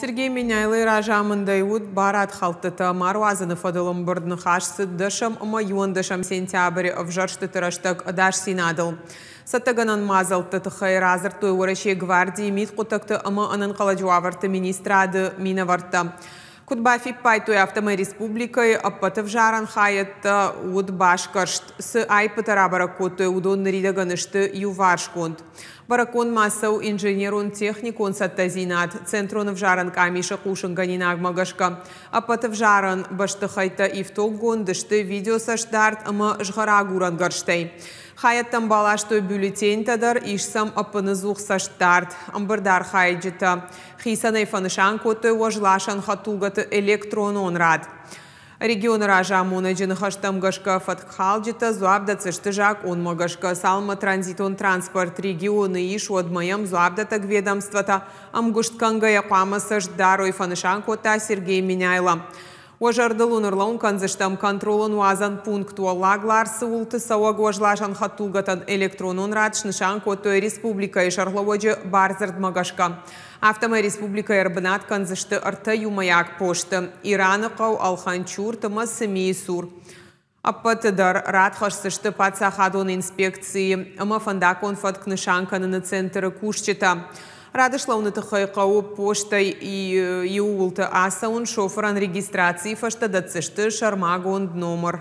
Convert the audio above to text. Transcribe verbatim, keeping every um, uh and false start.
Сергей Меняйлойы разамындӕй уыд барадхӕлдтытӕ ма руадзыны фӕдыл ӕмбырд. Ныхас цыд дӕсӕм ӕмӕ иуӕндӕсӕм сентябры ӕвзӕрстыты рӕстӕг ӕдасдзинадыл. Цӕттӕгӕнӕн мадзӕлтты тыххӕй радзырдтой Уӕрӕсейы гвардийы, мидхъуыддӕгты ӕмӕ ӕнӕнхъӕлӕджы уавӕрты министрады минӕвӕрттӕ. Куыд бафиппайдтой, афтӕмӕй республикӕйы ӕппӕт ӕвзарӕн хайӕдтӕ уыд басгӕрст. Цы аиппытӕ рабӕрӕг кодтой, уыдон ныридӕгӕн сты иуварсгонд. Бӕрӕггонд ма цӕуы инженерон-техникон цӕттӕдзинад. Центрон ӕвзарӕн къамисы хъусынгӕнинагмӕ гӕсгӕ, ӕппӕт ӕвзарӕн бӕстыхӕйттӕ ифтонггонд сты видеоцӕстдард ӕмӕ згъӕрагурӕн гӕрзтӕй. Хайӕдтӕм баластой бюллетеньтӕ дӕр, ис сӕм ӕппыныдзух цӕстдард. Ӕмбырды архайджытӕ хицӕнӕй фӕнысан кодтой уӕзласӕн хӕдтулгӕты электронон рад. Регионы разамонӕджы ныхӕстӕм гӕсгӕ, фӕткхалджытӕ дзуапп дӕтдзысты закъонмӕ гӕсгӕ. Цалынмӕ транзитон транспорт регионы ис, уӕдмӕ йӕм дзуапдӕттӕг ведомствотӕ ӕмгуыст кӕнгӕйӕ хъуамӕ цӕст дарой, фӕнысан кодта Сергей Меняйло. Уӕ зӕрдыл уын ӕрлӕууын кӕндзыстӕм, контролон уадзӕн пункт Уӕллаг Ларсы уылты цӕуӕг уӕзласӕн хӕдтулгӕтӕн электронон рад снысан кодтой республикӕйы сӕргълӕууӕджы бардзырдмӕ гӕсгӕ. Афтӕмӕй республикӕйы ӕрбынат кӕндзысты ӕртӕ иумӕйаг посты Ираны хъӕу, Алханчурт ӕмӕ Цымийы цур. Ӕппӕты дӕр рад хӕсдзысты паддзахадон инспекцийы ӕмӕ фӕндаггон фӕтк нысан кӕныны центры кусджытӕ. Рады слӕууыны тыххӕй хъӕуы постӕй иууылты ацӕуын, шофырӕн регистрацийы фӕстӕ дӕтдзысты сӕрмагонд номыр.